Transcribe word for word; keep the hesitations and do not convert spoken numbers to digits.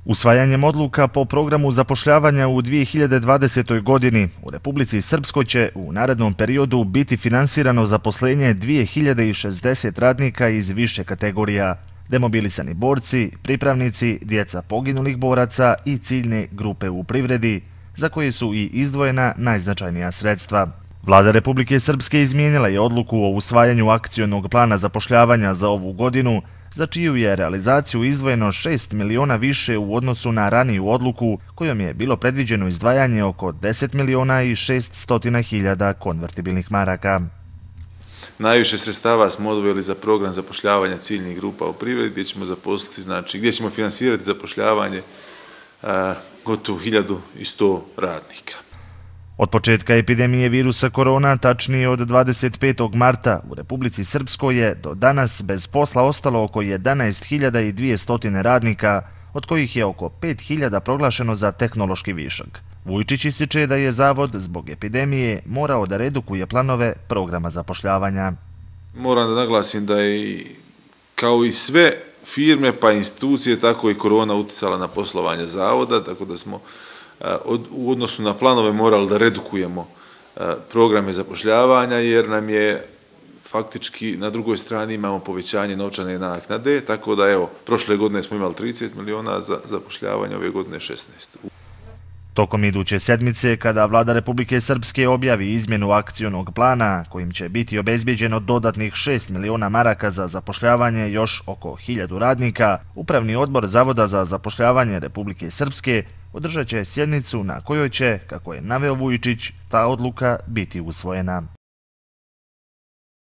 Usvajanjem odluka po programu zapošljavanja u dvije hiljade dvadesetoj. godini u Republici Srpskoj će u narednom periodu biti finansirano zaposlenje dvije hiljade šezdeset radnika iz više kategorija: demobilisani borci, pripravnici, djeca poginulih boraca i ciljne grupe u privredi, za koje su i izdvojena najznačajnija sredstva. Vlada Republike Srpske izmijenila je odluku o usvajanju akcionog plana zapošljavanja za ovu godinu, za čiju je realizaciju izdvojeno šest miliona više u odnosu na raniju odluku, kojom je bilo predviđeno izdvajanje oko deset miliona i šeststo hiljada konvertibilnih maraka. Najviše sredstava smo odvojili za program zapošljavanja ciljnih grupa u privredi, gdje ćemo zaposliti, znači, gdje ćemo finansirati zapošljavanje a, gotovo hiljadu i sto radnika. Od početka epidemije virusa korona, tačnije od dvadeset petog marta, u Republici Srpskoj je do danas bez posla ostalo oko jedanaest hiljada dvjesto radnika, od kojih je oko pet hiljada proglašeno za tehnološki višak. Vujčić ističe da je Zavod zbog epidemije morao da redukuje planove programa zapošljavanja. Moram da naglasim da je kao i sve firme pa institucije, tako i korona uticala na poslovanje Zavoda, tako da smo u odnosu na planove morali da redukujemo programe zapošljavanja, jer nam je faktički na drugoj strani imamo povećanje novčane naknade, tako da evo, prošle godine smo imali trideset miliona za zapošljavanje, ove godine šesnaest. Tokom iduće sedmice, kada Vlada Republike Srpske objavi izmjenu akcionog plana, kojim će biti obezbijeđeno dodatnih šest miliona maraka za zapošljavanje još oko hiljadu radnika, Upravni odbor Zavoda za zapošljavanje Republike Srpske održat će sjednicu na kojoj će, kako je naveo Vujčić, ta odluka biti usvojena.